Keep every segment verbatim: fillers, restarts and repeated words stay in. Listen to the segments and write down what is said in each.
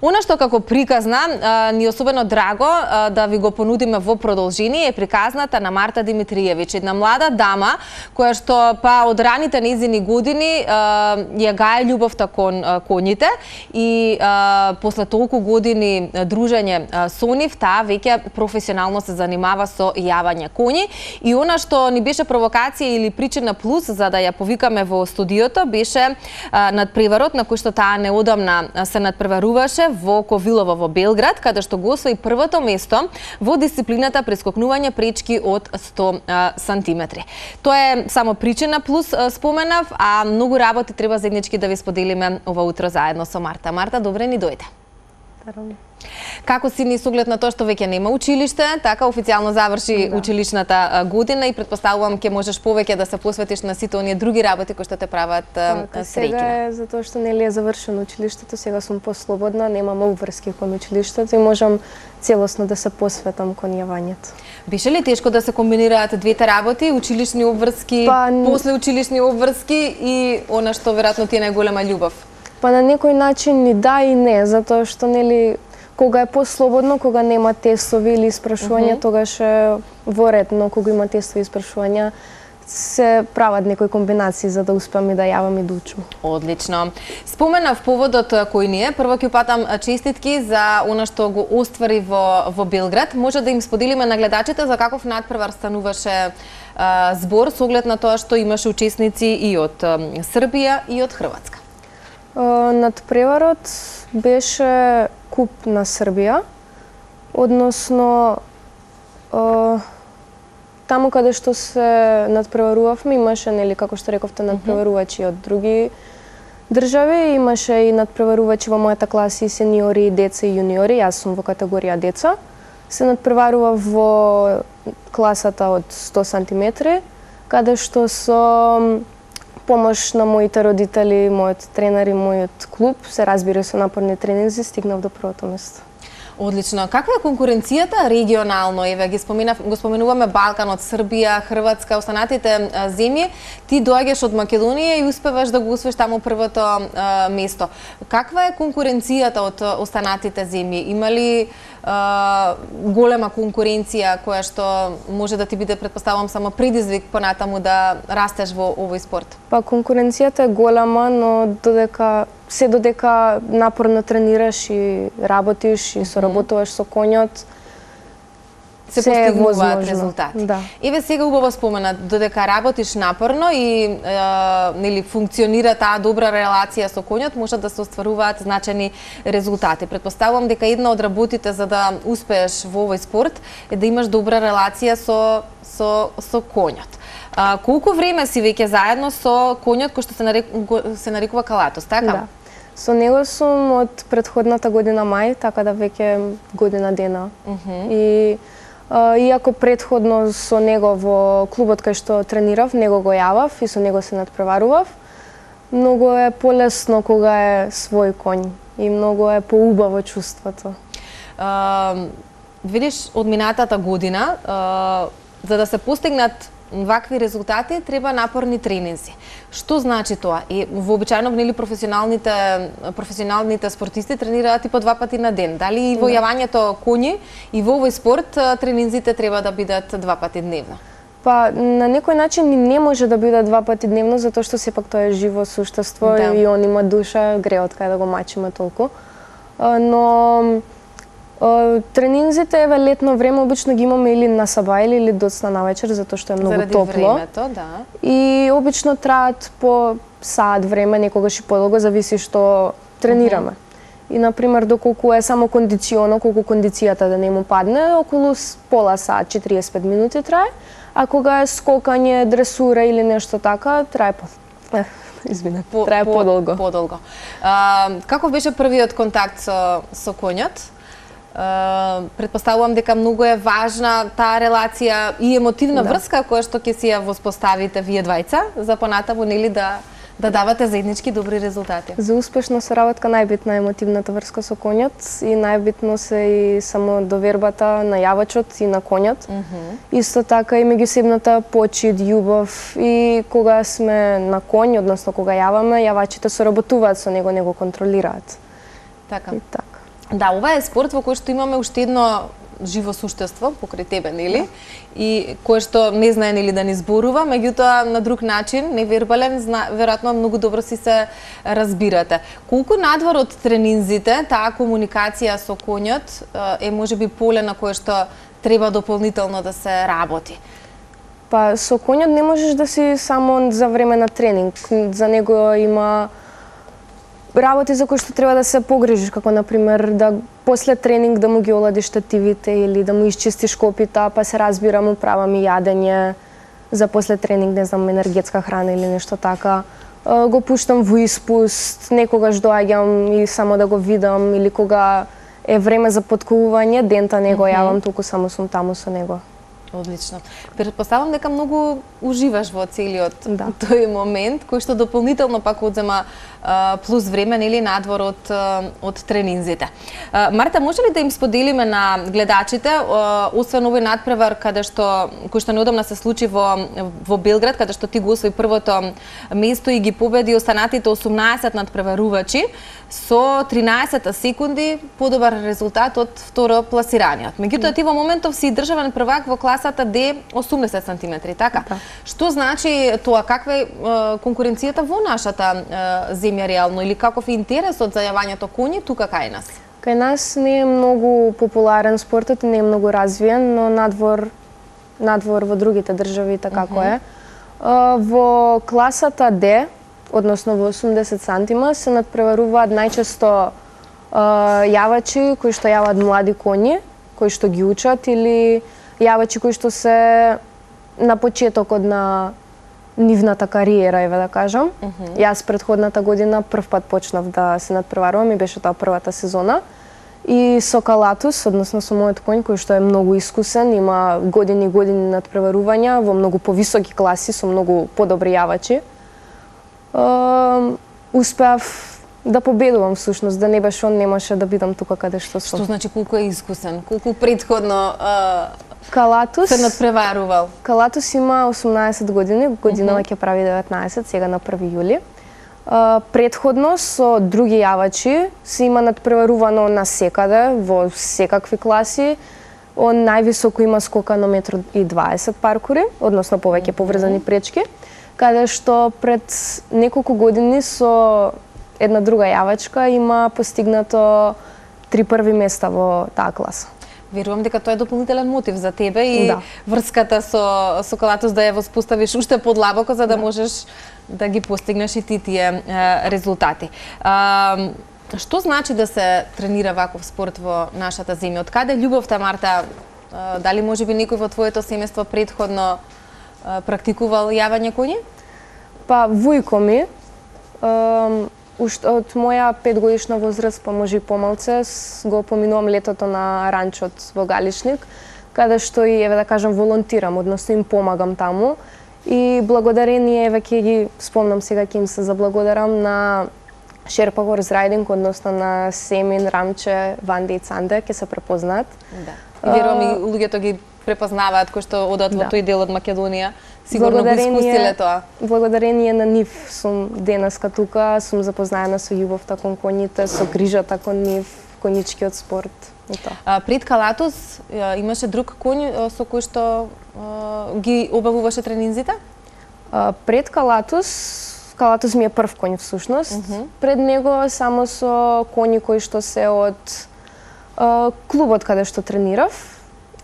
Она што како приказна ни особено драго да ви го понудиме во продолжение е приказната на Марта Димитриевиќ, една млада дама која што па од раните нејзини години ја гае љубовта кон коњите и после толку години дружење со нив, таа веќе професионално се занимава со јавање коњи и она што ни беше провокација или причина плюс за да ја повикаме во студиото беше надпреварот на кој што таа неодамна се надпреваруваше во Ковилово во Белград, каде што го освои првото место во дисциплината прескокнување пречки од сто сантиметри. Тоа е само причина плюс споменав, а многу работи треба заеднички да ви споделиме ова утро заедно со Марта. Марта, добре ни дојде. Како си ни с оглед на тоа што веќе нема училиште, така официјално заврши да. училишната година и претпоставувам ќе можеш повеќе да се посветиш на сите оние други работи кои што те прават така, среќна. Сега е затоа што нели е завршено училиштето, сега сум послободна, немам обврски кон училиштето и можам целосно да се посветам кон јавањето. Беше ли тешко да се комбинираат двете работи, училишни обврски, па, после училишни обврски и она што веројатно ти е најголема љубов? Па на некој начин и да и не, затоа што нели кога е послободно, кога нема тестови или испрашувања, uh -huh. тогаш е во ред, но кога има тестови и испрашувања, се прават некои комбинации за да успеам и да јавам и да учам. Одлично. Споменав поводот кој ни е. Прво ќе упатам честитки за она што го оствари во, во Белград. Може да им споделиме на гледачите за каков надпревар стануваше а, збор со оглед на тоа што имаше учесници и од а, Србија и од Хрватска. Надпреварот беше куп на Србија, односно таму каде што се надпреварувавме имаше, нели, како што рековте, надпреварувачи од други држави, имаше и надпреварувачи во мојата класа и сениори, деца и јуниори, јас сум во категорија деца. Се надпреварува во класата од сто сантиметри, каде што со помош на моите родители, мојот тренер и мојот клуб, се разбира со напорни тренинзи, стигнав до првото место. Одлично. Каква е конкуренцијата регионално? Еве ги споменав, го споменуваме Балканот, Србија, Хрватска, останатите земји. Ти доаѓаш од Македонија и успеваш да го освоиш таму првото а, место. Каква е конкуренцијата од останатите земји? Има ли а, голема конкуренција која што може да ти биде, претпоставувам, само предизвик понатаму да растеш во овој спорт? Па конкуренцијата е голема, но додека се додека напорно тренираш и работиш и соработуваш со коњот, се постигнуваат резултати. Да. Еве сега убаво спомена, додека работиш напорно и е, нели функционира таа добра релација со коњот, можат да се остваруваат значајни резултати. Претпоставувам дека една од работите за да успееш во овој спорт е да имаш добра релација со со со коњот. А, колку време си веќе заедно со коњот кој што се нарекува, се нарекува Калатос, така? Да. Со него сум од претходната година мај, така да веќе година дена. Uh -huh. И а, иако претходно со него во клубот кај што тренирав, него го јавав и со него се надпреварував, многу е полесно кога е свој коњ и многу е поубаво чувството. Uh, видиш, од минатата година, uh, за да се постигнат вакви резултати треба напорни тренинзи. Што значи тоа? И вообичаено нели професионалните професионалните спортисти тренираат и по два пати на ден. Дали и во јавањето коњи и во овој спорт тренинзите треба да бидат два пати дневно? Па на некој начин и не може да биде два пати дневно затоа што сепак тоа е живо суштество, да. И он има душа, греот кај да го мачиме толку. Но тренинзите, еве, летно време обично ги имаме или на сабајле или доцна навечер, затоа што е многу заради топло. Времето, да. И обично траат по саат време, некогаш и подолго, зависи што тренираме. Uh -huh. И, например, доколку е само кондиционо, колку кондицијата да не му падне, околу пола саат, четириесет и пет минути трае, а кога е скокање, дресура или нешто така, трае по... Извине, по, трае по, подолго. Подолго. А, каков беше првиот контакт со, со коњот? Uh, претпоставувам дека многу е важна таа релација и емотивна да. врска која што ќе си ја воспоставите вие двајца за понатаму, нели, да да давате заеднички добри резултати. За успешна соработка најбитна е емотивната врска со коњот и најбитно се и само довербата на јавачот и на коњот. Uh -huh. Исто така и меѓусебната почит, љубов и кога сме на коњ, односно кога јаваме, јавачите соработуваат со него, него контролираат. Така. И така. Да, ова е спорт во кој што имаме уште едно живо суштество покрај тебе, нели? И кое што не знае нели да ни зборува, меѓутоа на друг начин, невербален, зна, веројатно многу добро си се разбирате. Колку надвор од тренинзите, таа комуникација со коњот е можеби поле на кое што треба дополнително да се работи? Па со коњот не можеш да си само за време на тренинг. За него има работи за кои што треба да се погрижиш, како например да после тренинг да му ги оладиш тативите или да му исчистиш копита, па се разбира му правам и јадење за после тренинг, не знам, енергетска храна или нешто така. Го пуштам во испуст, некогаш доаѓам и само да го видам, или кога е време за поткувување, дента не го јавам, туку само сум таму со него. Одлично. Претпоставам дека многу уживаш во целиот да. тој момент, кој што дополнително пак одзема а, плюс време, нели, надвор од, од тренинзите. А, Марта, може ли да им споделиме на гледачите, а, освен овој надпревар каде што кој што неодамна се случи во во Белград, каде што ти го освои првото место и ги победи останатите осумнаесет надпреварувачи со тринаесет секунди подобар резултат од второ пласираниот. Меѓутоа ти во моментов си државен првак во класата Д осумдесет сантиметри, така? Да. Што значи тоа? Каква е конкуренцијата во нашата земја реално или каков е интересот за јавањето коњи тука кај нас? Кај нас не е многу популарен спортот и не е многу развиен, но надвор надвор во другите држави така како е. Во класата Д, односно во осумдесет сантима, се надпреваруваат најчесто јавачи кои што јават млади коњи, кои што ги учат, или јавачи кои што се на почетокот на нивната кариера, еве да кажам. Uh -huh. Јас претходната година прв пат почнав да се надпреварувам и беше тоа првата сезона. И со Калатус, односно со мојот коњ, кој што е многу искусен, има години и години надпреварувања во многу повисоки класи, со многу подобри јавачи. Uh, успеав да победувам всушност, да не беше он, немаше да бидам тука каде што сум. Што значи колку е искусен? Колку претходно uh... Калатус се надпреварувал? Калатус има осумнаесет години, годинава ќе прави деветнаесет, сега на први јули. Uh, предходно со други јавачи се има надпреварувано на секаде, во секакви класи. Он највисоко има скока на метар и дваесет паркури, односно повеќе поврзани пречки, каде што пред неколку години со една друга јавачка има постигнато три први места во таа класа. Верувам дека тоа е дополнителен мотив за тебе и да. врската со со Калатус да ја воспоставиш уште подлабоко за да, да можеш да ги постигнеш и ти тие е, резултати. А, што значи да се тренира ваков спорт во нашата земја? Од каде љубовта, Марта? А, дали можеби некој во твоето семејство претходно а, практикувал јавање коњи? Па вујко ми, а, уште од моја петгодишна возраст, па може и помалце, го поминувам летото на ранчот во Галичник, каде што и, еве да кажам, волонтирам, односно им помагам таму. И благодарение, еве ќе ги спомнам сега, ќе им се заблагодарам на Шерпа Horse Riding, односно на Семин, Рамче, Ванде и Цанде, ќе се препознаат. Да. И верувам и луѓето ги препознаваат кои што одат во да. тој дел од Македонија. Сигурно го искусиле тоа. Благодарение на нив сум денеска тука, сум запознаена со љубовта кон коњите, со грижата кон нив, конјичкиот спорт и тоа. А, пред Калатус имаше друг коњ со кој што а, ги обавуваше тренинзите? А, пред Калатус, Калатус ми е прв коњ всушност. Uh -huh. Пред него само со коњи кои што се од а, клубот каде што тренирав.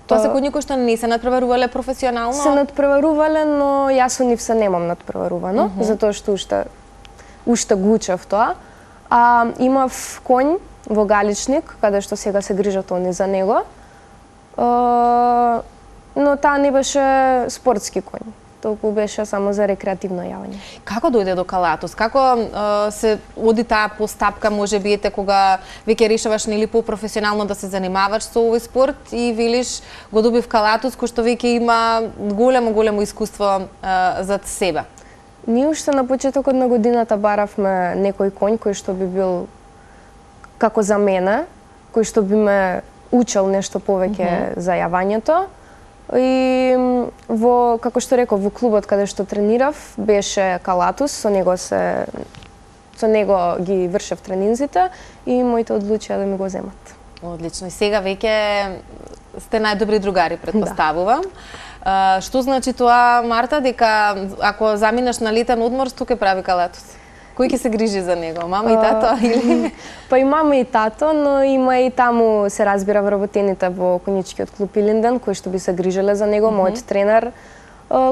Тоа се коњи кои што не се надпреварувале професионално? Се надпреварувале, но јас со нив се немам надпреварувано, uh -huh. затоа што уште уште го учев тоа. А имав коњ во Галичник, каде што сега се грижат они за него. А, но таа не беше спортски коњ. Толку беше само за рекреативно јавање. Како дојде до Калатус? Како е, се оди таа постапка, може би ете кога веќе решаваш нели по-професионално да се занимаваш со овој спорт и велиш го добив Калатус кој што веќе има големо големо искуство е, зад себе? Ние уште на почетокот на годината баравме некој коњ кој што би бил како за мене, кој што би ме учел нешто повеќе mm -hmm. за јавањето. И во, како што реков, во клубот каде што тренирав беше Калатус, со него се со него ги вршев тренинзите и моите одлучија да ми го земат. Одлично. И сега веќе сте најдобри другари, претпоставувам. Да. Што значи тоа, Марта, дека ако заминеш на летен одмор, што ќе прави Калатус? Кој ќе се грижи за него? Мама и тато или? Па и мама и тато, но има и таму се разбира вработените во конјичкиот клуб Илинден кои што би се грижеле за него, mm -hmm. мојот тренер.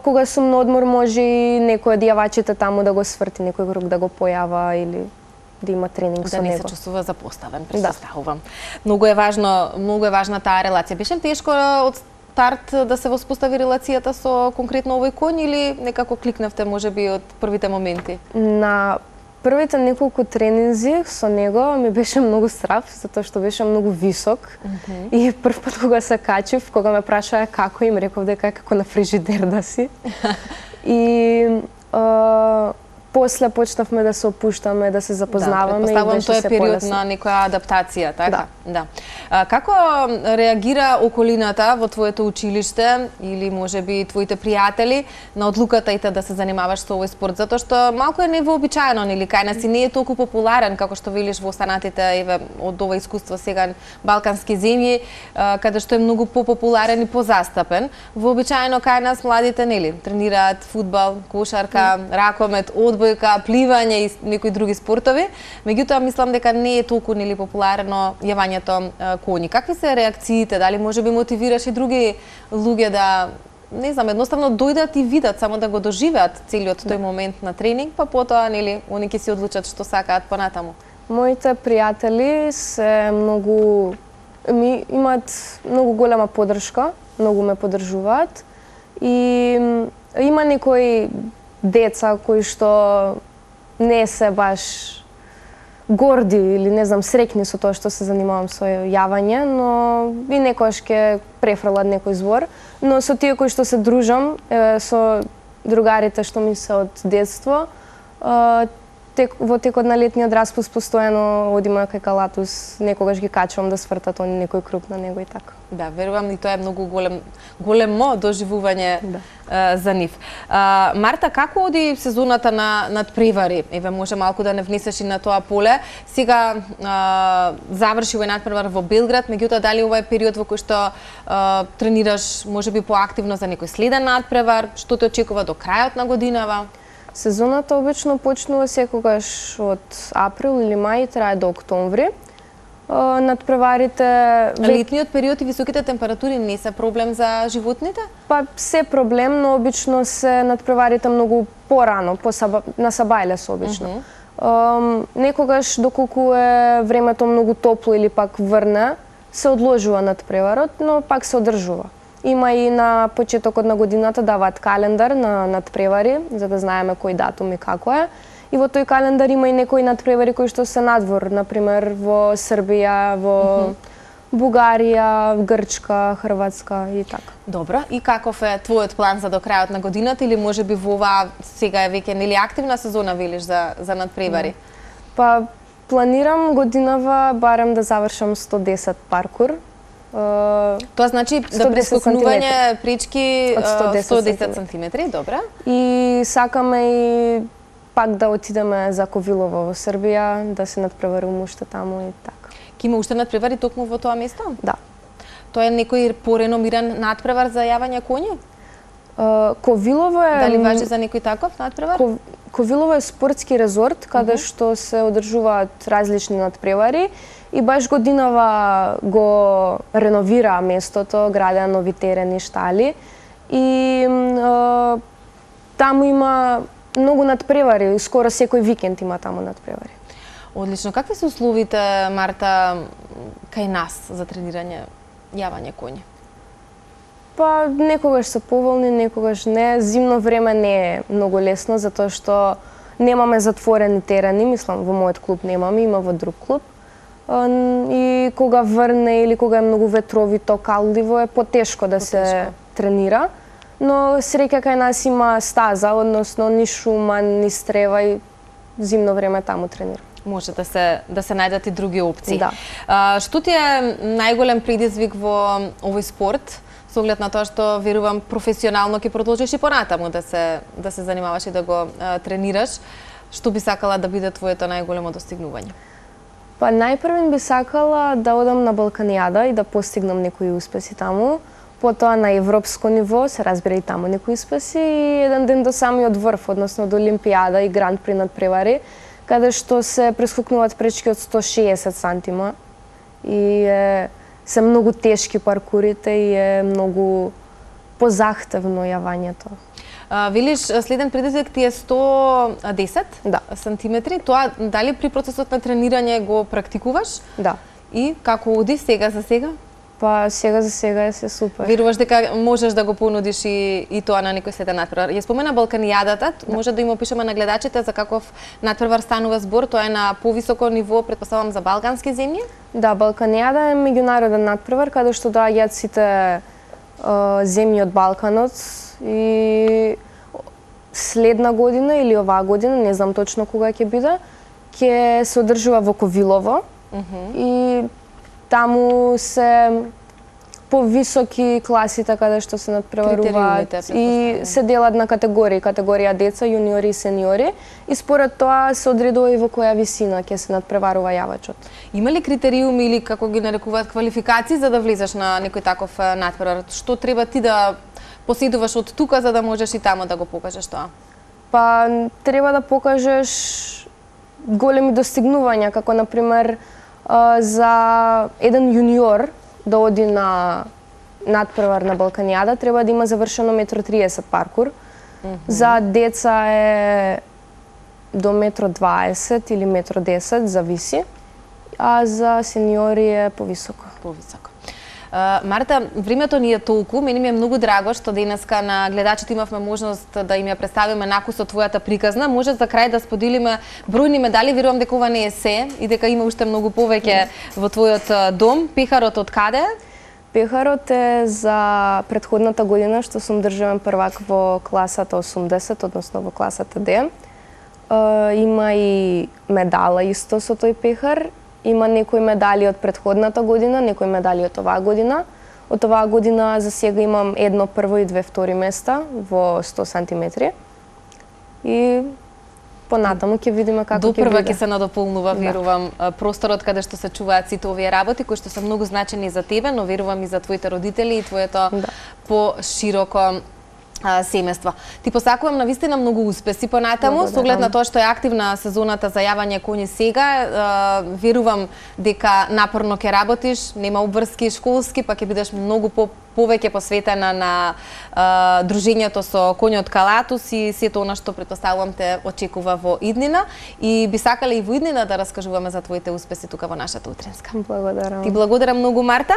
Кога сум на одмор може и некој од јавачите таму да го сврти, некој круг да го појава или да има тренинг со него. Да не се чувствува запоставен, претпоставувам. Да. Многу е важно, многу е важна таа релација. Беше ли тешко од старт да се воспостави релацијата со конкретно овој коњ или некако кликнавте можеби од првите моменти? На првите неколку тренинзи со него ми беше многу страв, затоа што беше многу висок. Mm -hmm. И прв пат кога се качив, кога ме прашаа како, им реков дека е како на фрижидер да си. И а, после почнавме да се опуштаме, да се запознаваме да, и беше тоа е се период полесно. на некоја адаптација, така? Да. Да. А, како реагира околината во твоето училиште или можеби твоите пријатели на одлуката ите да се занимаваш со овој спорт? Затоа што малку е невообичаено, нели кај нас и не е толку популарен како што велиш во останатите еве од ова искуство сега балкански земји, каде што е многу попопуларен и позастапен. Вообичаено кај нас младите нели тренираат фудбал, кошарка, mm. ракомет, одбојка, пливање и некои други спортови. Меѓутоа мислам дека не е толку нели популарно јавањето коњи. Какви се реакциите? Дали можеби мотивираш и други луѓе да не знам, едноставно дојдат и видат, само да го доживеат целиот тој момент на тренинг, па потоа нели они ќе се одлучат што сакаат понатаму? Моите пријатели се многу ми имаат многу голема поддршка, многу ме поддржуваат и има некои деца кои што не се баш горди или не знам среќни со тоа што се занимавам со јавање, но и некојаш ќе префрлат некој збор, но со тие кои што се дружам, е, со другарите што ми се од детство, е, тек, во текот на летниот распуст постојано одиме кај Калатус, некогаш ги качувам да свртат они некој круг на него и така. Да, верувам и тоа е многу голем големо доживување да. а, за нив. А, Марта, како оди сезоната на надпревари? Еве може малку да не внесеш и на тоа поле. Сега а, заврши овој надпревар во Белград, меѓутоа дали ова е период во кој што а, тренираш можеби поактивно за некој следен надпревар? Што те очекува до крајот на годинава? Сезоната обично почнува секогаш од април или мај, трае до октомври. Надпреварите... Летниот период и високите температури не се проблем за животните? Па се проблем, но обично се надпреварите многу порано, по саба, на Сабајлес обично. Uh -huh. Некогаш доколку е времето многу топло или пак врне, се одложува надпреварот, но пак се одржува. Има и на почетокот на годината даваат календар на надпревари, за да знаеме кој датум и како е. И во тој календар има и некои надпревари кои што се надвор, например во Србија, во mm -hmm. Бугарија, Грчка, Хрватска и така. Добро, и каков е твојот план за до крајот на годината или можеби во оваа сега е веќе нели активна сезона велиш за за надпревари? Mm. Па планирам годинава барем да завршам сто десет паркур. Uh, Тоа значи да прескокнување пречки од сто десет сантиметри, добра. И сакаме и пак да отидеме за Ковилово во Србија, да се надпреваруваме уште таму и така. Ке има уште надпревари токму во тоа место? Да. Тоа е некој пореномиран надпревар за јавање коњи? Uh, Ковилово е... Дали важи за некој таков надпревар? Ко... Ковилово е спортски резорт, каде uh -huh. што се одржуваат различни надпревари и баш годинава го реновира местото, градеа нови терени, штали и е, таму има многу надпревари, скоро секој викенд има таму надпревари. Одлично. Какви се условите, Марта, кај нас за тренирање јавање коњи? Па некогаш се поволни, некогаш не. Зимно време не е многу лесно затоа што немаме затворени терени, мислам во мојот клуб немаме, има во друг клуб. И кога врне или кога е многу ветровито, калдиво е потешко да се потешко. тренира. Но среќа кај нас има стаза, односно ни шума, ни стрева и зимно време таму тренира. Може да се да се најдат и други опции. Да. А, што ти е најголем предизвик во овој спорт? Со оглед на тоа што верувам професионално ќе продолжиш и понатаму да се да се занимаваш и да го а, тренираш. Што би сакала да биде твоето најголемо достигнување? Па најпрвен би сакала да одам на Балканијада и да постигнам некои успеси таму. Потоа на европско ниво, се разбира и таму некои успеси, и еден ден до самиот врв, односно до Олимпијада и Гранд При надпревари, каде што се прескокнуваат пречки од сто шеесет сантима и е, се многу тешки паркурите и е многу позахтевно јавањето. А, велиш, следен предизвик ти е сто десет Да. сантиметри. Тоа дали при процесот на тренирање го практикуваш? Да. И како оди сега за сега? Па сега за сега е се супер. Веруваш дека можеш да го понудиш и, и тоа на некој следен надпревар? Ја спомена Балканијадата, да. Може да им опишеме на гледачите за каков надпревар станува збор, тоа е на повисоко ниво, претпоставам за балкански земји? Да, Балканијада е меѓународен надпревар каде што доаѓаат сите е, земји од Балканот и следна година или оваа година, не знам точно кога ќе биде, ќе се одржува во Ковилово. Uh-huh. И таму се повисоки класите каде што се надпреваруваат и се делат на категории, категорија деца, јуниори и сениори, и според тоа се одредува и во која висина ќе се надпреварува јавачот. Има ли критериуми или како ги нарекуваат квалификации за да влезеш на некој таков надпревар? Што треба ти да поседуваш од тука за да можеш и таму да го покажеш тоа? Па треба да покажеш големи достигнувања, како на пример за еден јуниор да оди на надпревар на Балканијада треба да има завршено метро триесет паркур. Mm-hmm. За деца е до метро дваесет или метро десет, зависи, а за сениори е повисоко. Повисоко. Uh, Марта, времето ни е толку, мене ми е многу драго што денеска на гледачите имавме можност да им ја представиме накусот твојата приказна. Може за крај да споделиме бројни медали, верувам дека ова не е се и дека има уште многу повеќе во твојот дом. Пехарот од каде? Пехарот е за претходната година што сум државен првак во класата осумдесет, односно во класата Д. Uh, има и медала исто со тој пехар. Има некои медали од претходната година, некои медали од оваа година. Од оваа година за сега имам едно прво и две втори места во сто сантиметри. И понатаму ќе видиме како ќе биде. Допрва ќе се надополнува, верувам, да. Просторот каде што се чуваат сите овие работи, кои што се многу значени за тебе, но верувам и за твоите родители и твоето да. Пошироко семејство. Ти посакувам на вистина многу успеси понатаму, со оглед на тоа што е активна сезоната за јавање коњи сега. Верувам дека напорно ќе работиш, нема обврски школски, па ќе бидеш многу по повеќе посветена на а, дружењето со коњот Калатус и сето она што претпоставувам те очекува во иднина. И би сакале и во иднина да раскажуваме за твоите успеси тука во нашата утринска. Благодарам. Ти благодарам многу, Марта.